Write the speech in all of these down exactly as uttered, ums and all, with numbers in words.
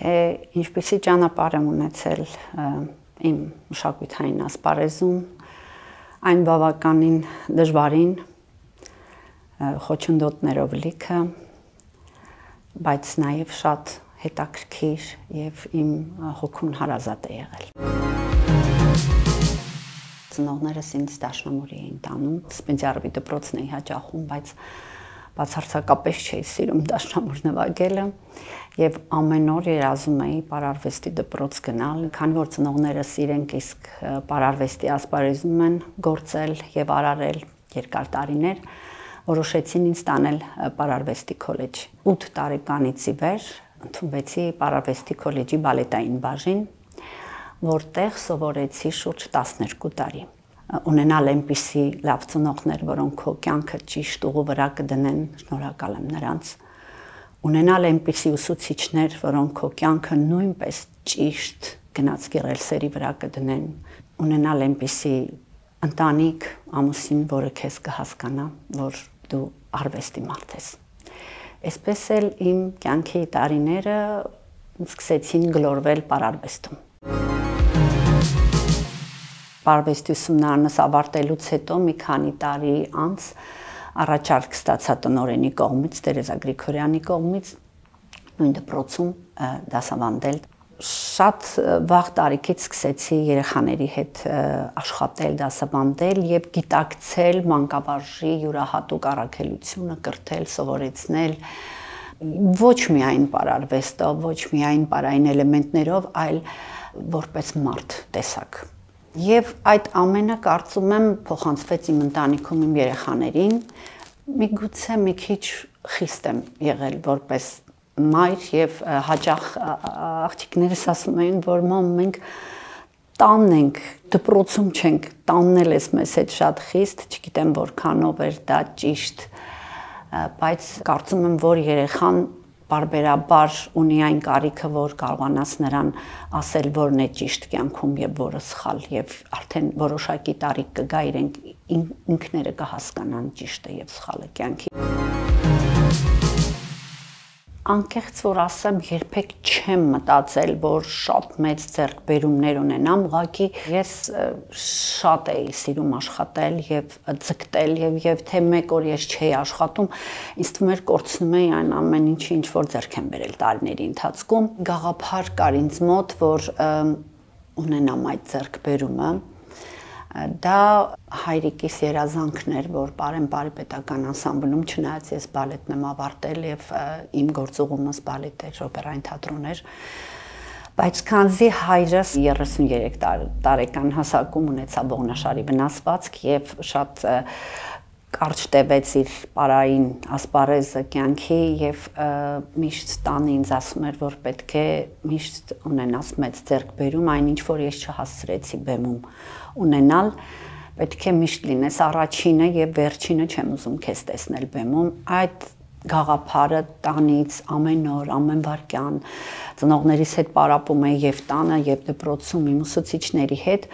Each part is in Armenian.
թե ինչպիսի ճանապարհ եմ ունեցել իմ մշակութային ասպարեզում, այն բավականին դժվարին, խոչընդոտներով լիքը, բայց նաև շատ հետաքրքիր եւ իմ հոգուն հարազատ է եղել։ Ծնողներս ինձ դաշնամուրի էին տանում, Սպենդիարովի դպրոցն էի հաճախում, բայց բացարձակապես չէի սիրում դաշնամուր նվագելը եւ ամեն օր երազում էի պարարվեստի դպրոց գնալ, քանի որ ծնողներս իրենք իսկ պարարվեստի ասպարեզում են գործել եւ արարել երկար տարիներ, որոշեցին ինձ տանել պարարվեստի քոլեջ։ ութ տարեկանից ի վեր ընդունվեցի պարարվեստի քոլեջի բալետային բաժին, որտեղ սովորեցի շուրջ տասներկու տարի։ Ունենալ այնպիսի լավ ծնողներ, որոնք քո կյանքը ճիշտ ուղու վրա կդնեն, շնորհակալ եմ նրանց։ Ունենալ այնպիսի ուսուցիչներ, որոնք քո կյանքը նույնպես ճիշտ գնացքի ռելսերի վրա կդնեն։ Ունենալ այնպիսի ընտանիք, ամուսին, որը քեզ կհասկանա, որ դու արվեստի մարդ ես։ Այսպես էլ իմ կյանքի տարիները սկսեցին գլորվել պարարվեստում։ Պարարվեստի ուսումնարանս ավարտելուց հետո մի քանի տարի անց առաջարկ ստացա տնօրենի կողմից, Տերեզա Գրիգորյանի կողմից նույն դպրոցում դասավանդել։ Շատ վաղ տարիքից սկսեցի երեխաների հետ աշխատել, դասավանդել եւ գիտակցել մանկավարժի յուրահատուկ առաքելությունը, կրթել, սովորեցնել ոչ միայն պարարվեստով, ոչ միայն պարային էլեմենտներով, այլ որպես մարդ տեսակ։ Եվ այդ ամենը կարծում եմ փոխանցվեց իմ ընտանիքում իմ երեխաներին, միգուցե մի քիչ խիստ եմ եղել որպես մայր եւ հաճախ աղջիկներս ասում էին, որ մամ մենք տանն ենք, դպրոցում չենք, տանն էլ էս մեզ հետ շատ խիստ, չգիտեմ որքանով էր դա ճիշտ, բայց կարծում եմ, որ երեխան բարբերաբար ունի այն կարիքը, որ կարողանաս նրան ասել, որն է ճիշտ կյանքում եւ որը սխալ, եւ արդեն որոշակի տարիք կգա իրենք ինքները կհասկանան ճիշտը եւ սխալը կյանքի։ Անկեղծ որ ասեմ, երբեք չեմ մտածել, որ շատ մեծ ձեռքբերումներ ունենամ, ուղղակի ես շատ էի սիրում աշխատել եւ ձգտել եւ եւ թե մեկ օր ես չէի աշխատում, ինձ թվում էր կորցնում էի այն ամեն ինչը, ինչ որ ձեռք եմ բերել տարիների ընթացքում։ Գաղափար կար ինձ մոտ, որ ունենամ այդ ձեռքբերումը։ Դա հայրիկիս երազանքն էր, որ Պարեն-Պարի պետական անսամբլում, չնայած ես բալետն եմ ավարտել եւ իմ գործուղումս բալետ էր, օպերային թատրոն էր, բայց քանզի հայրս երեսուններեք տարեկան հասակում ունեցավ ողնաշարի վնասվածք եւ շատ կարճ տևեց իր պարային ասպարեզը կյանքի եւ միշտ տանը ինձ ասում էր, որ պետք է միշտ ունենաս մեծ ձեռքբերում, այնինչ որ ես չհասցրեցի բեմում ունենալ, պետք է միշտ լինես առաջինը եւ վերջինը չեմ ուզում քեզ տեսնել բեմում։ Այդ գաղափարը տանից ամեն օր, ամեն վայրկյան ծնողներիս հետ պարապում էի եւ տանը եւ դպրոցում իմ ուսուցիչների հետ,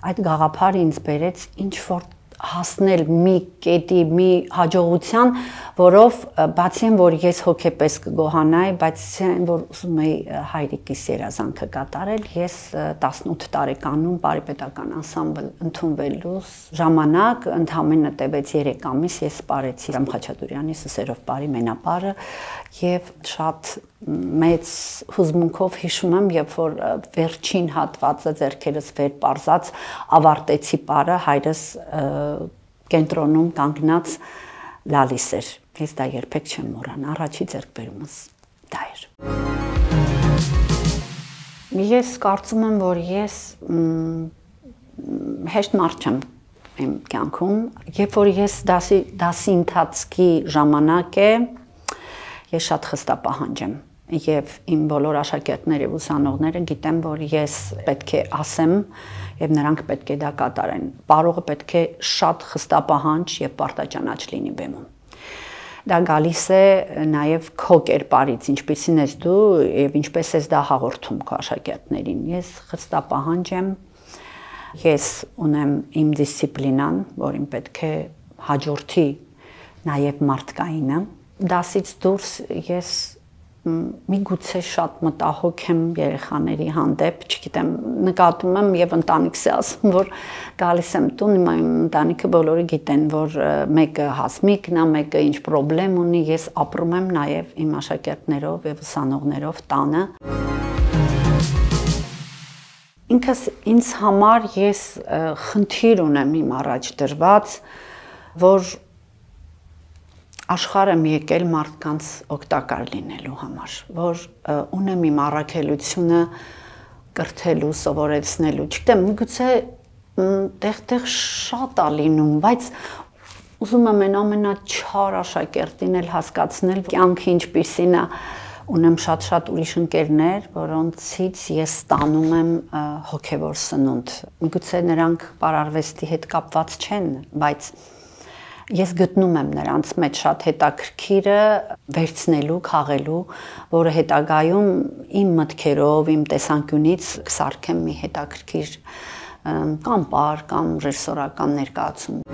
այդ գաղափարը ինձ բերեց ինչ որ հասնել մի կետի, մի հաջողության, որով բացի այն, որ ես հոգեպես կգոհանայի, բայց այն, որ ուզում էի հայրիկիս երազանքը կատարել, ես տասնութ տարեկանում Պարիպետական անսամբլ ընդունվելու ժամանակ ընդամենը տևեց երեք ամիս, ես սպարեցի Ռամ Խաչատուրյանի Սուսերով Պարի մենապարը եւ շատ մեծ հուզմունքով հիշում եմ, երբ որ վերջին հատվածը ձեռքերս վեր պարզած ավարտեցի պարը, հայրս կենտրոնում կանգնած լալիս էր։ Ես դա երբեք չեմ մոռանա, առաջի ձեռքբերումս դա էր։ Ես կարծում եմ, որ ես հեշտ մարդ չեմ իմ կյանքում, երբ որ ես դասի դասի ընթացքի ժամանակ է, ես շատ խստապահանջ եմ եւ իմ բոլոր աշակերտները եւ ուսանողները գիտեմ, որ ես պետք է ասեմ եւ նրանք պետք է դա կատարեն։ Պարողը պետք է շատ խստապահանջ եւ պարտաճանաչ լինի բեմում։ Դա գալիս է նաեւ քո կերպարից, ինչպեսին ես դու եւ ինչպես ես դա հաղորդում քո աշակերտներին։ Ես խստապահանջ եմ, ես ունեմ իմ դիսցիպլինան, որին պետք է հաջորդի նաեւ մարդկայինը։ Դասից դուրս ես միգուցե շատ մտահոգ եմ երեխաների հանդեպ, չգիտեմ, նկատում եմ եւ ընտանիքս է ասում, որ գալիս եմ տուն, իմ ընտանիքը բոլորը գիտեն, որ մեկը հասմիկն է, մեկը ինչ խնդրեմ ունի, ես ապրում եմ նաեւ իմ աշակերտներով եւ ուսանողներով տանը։ Ինքս ինձ համար ես խնդիր ունեմ իմ առաջ դրված, որ աշխարհ եմ եկել մարդկանց օգտակար լինելու համար, որ ունեմ իմ առաքելությունը կրթելու, սովորեցնելու, չգիտեմ, միգուցե տեղ-տեղ շատ է լինում, բայց ուզում եմ այն ամենաչար աշակերտին էլ հասկացնել, կյանքը ինչպիսին է, ունեմ շատ-շատ ուրիշ ընկերներ, որոնցից ես ստանում եմ հոգևոր սնունդ, միգուցե նրանք պարարվեստի հետ կապված չեն, բայց ես գտնում եմ նրանց մեջ շատ հետաքրքիրը վերցնելու, քաղելու, որը հետագայում իմ մտքերով, իմ տեսանկյունից կսարքեմ մի հետաքրքիր կամ պար, կամ ռեժիսորական ներկայացում։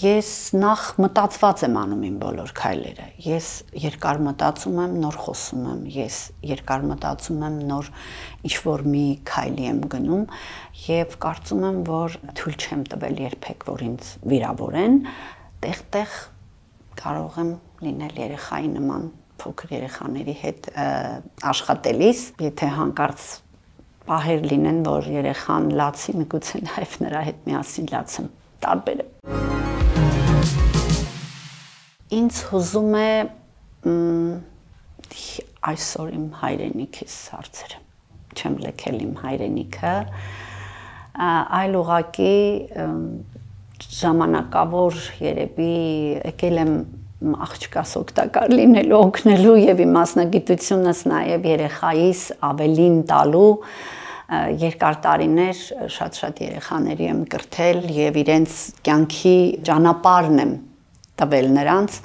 Ես նախ մտածված եմ անում իմ բոլոր քայլերը, ես երկար մտածում եմ, նոր խոսում եմ, ես երկար մտածում եմ, նոր ինչ-որ մի քայլի եմ գնում եւ կարծում եմ, որ թույլ չեմ տվել երբեք, որ ինձ վիրավորեն, տեղ-տեղ կարող եմ լինել երեխայի նման, փոքր երեխաների հետ աշխատելիս, եթե հանկարծ պահեր լինեն, որ երեխան լացի, միգուցե նաեւ նրա հետ միասին լացեմ, տարբեր է։ Ինձ հուզում է այսօր իմ հայրենիքից հարցերը, չեմ լքել իմ հայրենիքը, այլ ուղղակի ժամանակավոր երևի եկել եմ աղջկաս օգտակար լինելու, օգնելու եւ իմ մասնագիտությունս նաեւ երեխայիս ավելին տալու, երկար տարիներ շատ-շատ երեխաների եմ կրթել եւ իրենց կյանքի ճանապարհն եմ տվել նրանց,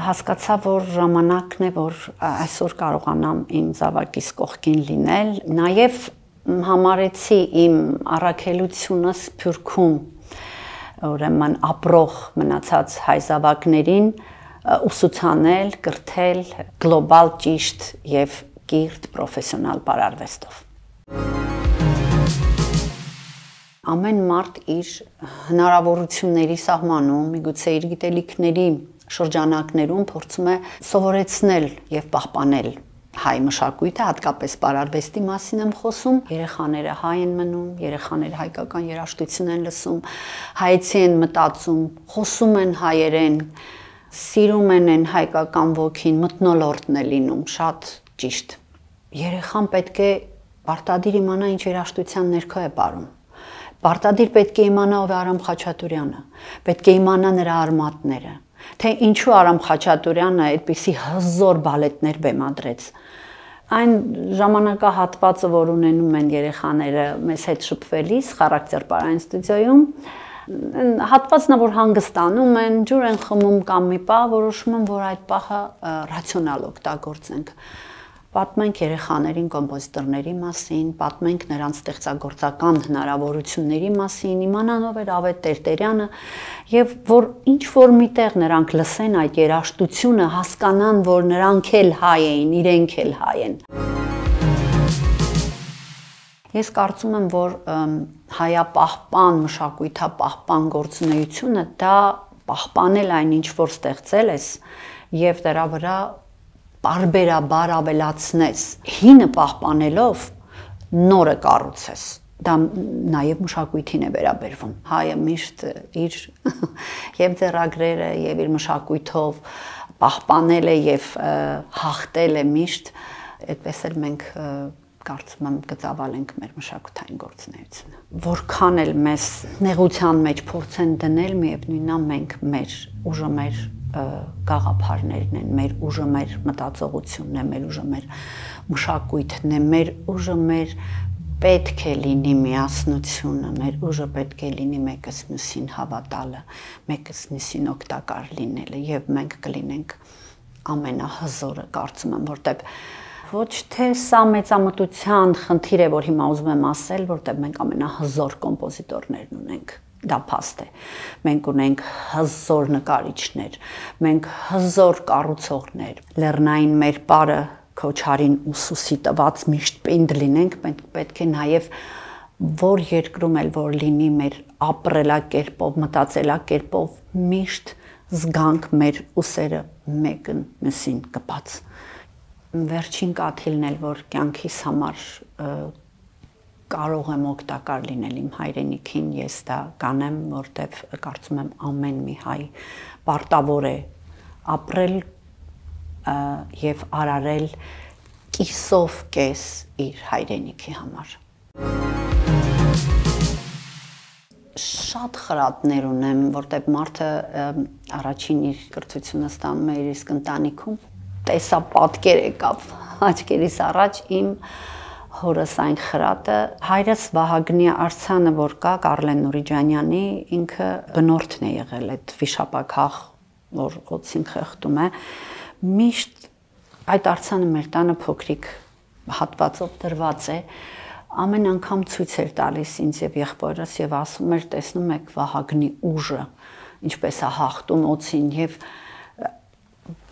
հասկացա, որ ժամանակն է, որ այսօր կարողանամ իմ զավակիս կողքին լինել, նաև համարեցի իմ առաքելությունը Սփյուռքում, ուրեմն ապրող մնացած հայ զավակներին ուսուցանել, կրթել գլոբալ ճիշտ եւ կիրթ պրոֆեսիոնալ պարարվեստով։ Ամեն մարդ իր հնարավորությունների սահմանում, միգուցե իր գիտելիքների շրջանակներում փորձում է սովորեցնել եւ պահպանել հայ մշակույթը, հատկապես պարարվեստի մասին եմ խոսում, երեխաները հայ են մնում, երեխաները հայկական երաժշտություն են լսում, հայեցի են մտածում, խոսում են հայերեն, սիրում են այն հայկական ոգին, մթնոլորտն է լինում, շատ ճիշտ։ Երեխան պետք է պարտադիր իմանա ինչ երաժշտության ներքո է ապրում։ Պարտադիր պետք է իմանա ով է Արամ Խաչատուրյանը, պետք է իմանա նրա արմատները, թե ինչու Արամ Խաչատուրյանը այդպիսի հզոր բալետներ բեմադրեց։ Այն ժամանակահատվածը, որ ունենում են երեխաները մեզ հետ շփվելիս Խարակտերպարային ստուդիոյում, հատվածն է, որ հանգստանում են, ջուր են խմում կամ մի պահ, որոշում են, որ այդ պահը ռացիոնալ օգտագործենք։ Պատմենք երեխաներին կոմպոզիտորների մասին, պատմենք նրանց ստեղծագործական հնարավորությունների մասին, իմանանով էր Ավետ Տերտերյանը, եւ որ ինչ որ միտեղ նրանք լսեն այդ երաժշտությունը, հասկանան, որ նրանք էլ հայ էին, իրենք էլ հայ են։ Ես կարծում եմ, որ հայապահպան, մշակույթապահպան գործունեությունը դա պահպանել այն ինչ որ ստեղծել ես եւ դրա վրա բարբերաբար ավելացնես, հինը պահպանելով նորը կառուցես, դա նաև մշակույթին է վերաբերվում, հայը միշտ իր և ձեռագրերը և իր մշակույթով պահպանել է և հաղթել է միշտ, այդպես էլ մենք կարծում եմ կծավալենք մեր մշակութային գործունեությունը։ Որքան էլ մեզ նեղության մեջ փորձ են դնել, միևնույնն է մենք մեր ուժը մեր գաղափարներն են, մեր ուժը մեր մտածողությունն է, մեր ուժը մեր մշակույթն է, մեր ուժը մեր պետք է լինի միասնությունը, մեր ուժը պետք է լինի մեկս մյուսին հավատալը, մեկս մյուսին օգտակար լինելը եւ մենք կլինենք ամենահզորը, կարծում եմ, որտեղ ոչ թե սա մեծամտության խնդիր է, որ հիմա ուզում եմ ասել, որտեղ մենք ամենահզոր կոմպոզիտորներն ունենք դա փաստ է։ Մենք ունենք հզոր նկարիչներ, մենք հզոր կառուցողներ, լեռնային մեր պարը Քոչարին ուսուսի տված միշտ պինդ լինենք, մենք պետք է նաև որ երկրում էլ որ լինի մեր ապրելակերպով, մտածելակերպով միշտ զգանք մեր ուսերը մեկն մյուսին կպած։ Վերջին կաթիլն էլ որ կյանքիս համար կարող եմ օգտակար լինել իմ հայրենիքին, ես դա կանեմ, որտեվ կարծում եմ ամեն մի հայ պարտավոր է ապրել եւ արարել կիսով կես իր հայրենիքի համար։ Շատ խրատներ ունեմ, որտեղ մարդը առաջին իր կրթությունը ստանում է իր իսկ ընտանիքում, տեսա պատկեր եկավ աչքերիս առաջ իմ հորս այն խրատը, հայրս Վահագնի արձանը, որ կա Կարլեն Նուրիջանյանի, ինքը բնորդն է եղել այդ վիշապաքաղ, որ օծին խեղդում է, միշտ այդ արձանը մեր տանը փոքրիկ հատվածով դրված է, ամեն անգամ ցույց էր տալիս ինձ եւ եղբորս եւ ասում էր տեսնում եք Վահագնի ուժը ինչպես է հաղթում օծին եւ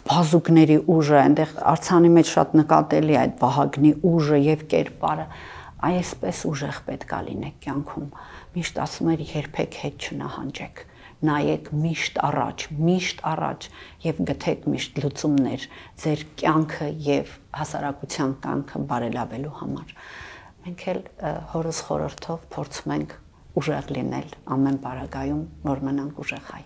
բազուկների ուժը այնտեղ արձանի մեջ շատ նկատելի է այդ Վահագնի ուժը եւ կերպարը այսպես ուժեղ պետք է լինեք կյանքում միշտ ասում էր երբեք հետ չնահանջեք նայեք միշտ առաջ միշտ առաջ եւ գտեք միշտ լուծումներ ձեր կյանքը եւ հասարակության կյանքը բարելավելու համար մենք էլ հորս խորհրդով փորձում ենք ուժեղ լինել ամեն պարագայում, որ մնանք ուժեղ հայ։